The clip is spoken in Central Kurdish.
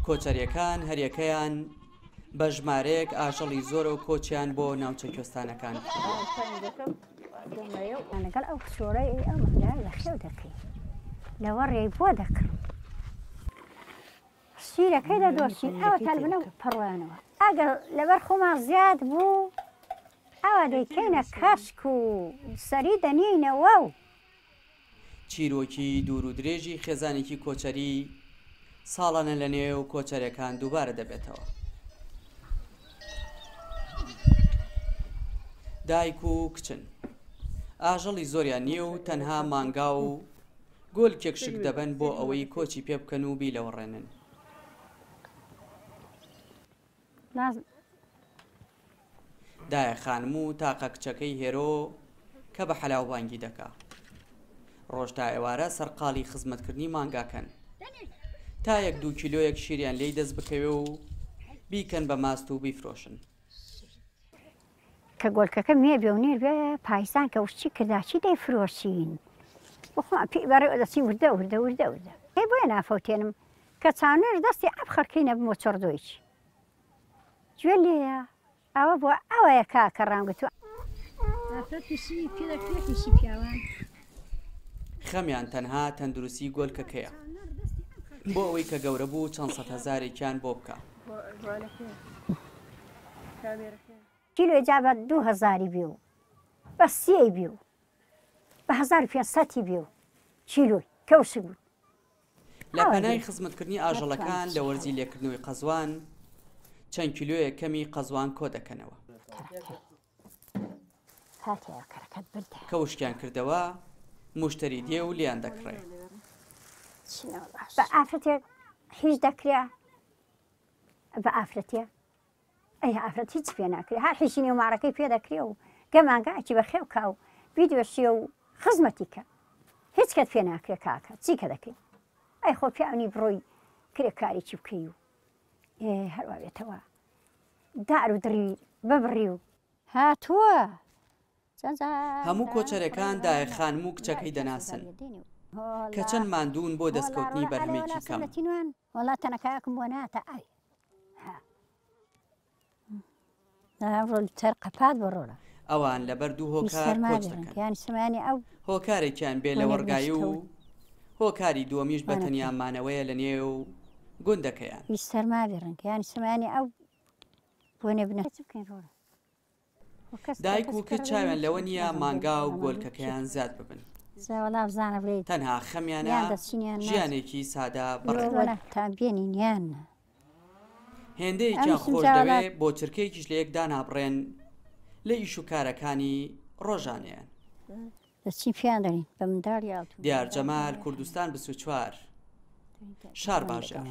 کۆچەرییەکان هەریەکەیان بە ژمارەیەک ئاژەڵی زۆرەوە کۆچیان بۆ ناوچە کوێستانەکان کردووە. لەگەڵ ئەو کچۆڵەی ئەو مانگایە بەخێو دەکەین لەوەڕێی بۆ دەکڕم شیرەکەی دەدۆشین ئەوە تەلبنە و پەڕۆیانەوە ئەگەر لەبەر خۆمان زیاد بوو ئەوە دەیکەینە کەشک و سەری دەنێینەوە و. چیرۆکی دوور و درێژی خێزانێکی کۆچەری ساڵانە لە نێو کۆچەرەکان دووبارە دەبێتەوە. دایک و کچن. ئاژەڵی زۆریان نییە و تەنها مانگا و گۆلکێک شک دەبەن بۆ ئەوەی کۆچی پێ بکەن و بیلەوەڕێنن. دایە خانم و تاقە کچەکەی هێرۆ کە بە حەلاو بانگی دەکا. ڕۆژ تا ئێوارە سەرقاڵی خزمەتکردنی مانگاکەن. تا یەک دوو کیلۆیەک شیریان لێی دەست بکەوێ و بیکەن بە ماست و بیفرۆشن. کە گۆلکەکە مێ بێ و نێر بێ پایزان کە وشکی کردا چی دەیفرۆشین بۆ خۆمان پێی بەڕێوە دەچین وردە وردە وردە وردە ئێ بۆیە نافەوتێنم کە چاونوێژ دەستی ئەم خەڵکەی نەبم و چڕدۆیی گوێ لێیە ئەوە بۆ ئەوەیە کاکە ڕامگرتووە. ئافرەت پیشی پێ دەکرێ پیشی پیاوان. خەمیان تەنها تەندروستی گۆلکەکەیە بۆ ئەوەی کە گەورە بوو چەند سەدهەزارێکیان بۆ بکا. کیلۆی جا بە دوو هەزاری بێ و بە سێی بێ و بە 1500 بێ و کیلۆی کەوشک بوو. لە پەنای خزمەتکردنی ئاژەڵەکان لە وەرزی لێکردنەوەی قەزوان چەند کیلۆیەک کەمی قەزوان کۆدەکەنەوە. کە وشکیان کردەوە موشتەری دێ و لێیان دەکڕێ. بە ئافرەتێک هیچ دەکرێ بە ئافرەتێ ئەی ئافرەت هیچ پێ ناکرێ هەر حیشی نێو ماڕەکەی پێ دەکرێ و گەمانگاکی بە خێو کا و بیدۆشیە و خزمەتی کە هیچ کەت پێ ناکرێ کاکە چی کە دەکەی ئەی خۆ پیاونی بڕۆی کرێکاریی بکەی و هەروە بێتەوە دار و دڕی ببڕی و هاتووە هەموو کۆچەرەکان دایە خانم و کچەکەی دەناسن کە چەند ماندوون بۆ دەستکەوتنی بەرهەمێکی کەم. وەڵا تەنەکایەکم بۆ ناتە ئای ئەوان لەبەر دوو هۆکار کۆچ دەکەن، هۆکارێکیان بێ لەوەڕگایی و هۆکاری دووەمیش بە تەنیا مانەوەیە لە نێو گوندەکەیان. دایک و کچ چاویان لەوە نییە مانگا و گۆلکەکەیان زیاد ببن، تەنها خەمیانە ژیانێکی سادە بەڕێ بکەن. هێندەیەکیان خۆش دەوێ بۆ چرکەیەکیش لە یەک دانابڕێن لە ئیش و کارەکانی ڕۆژانەیان. دیار جەمال، کوردستان 24، شارباژێڕ.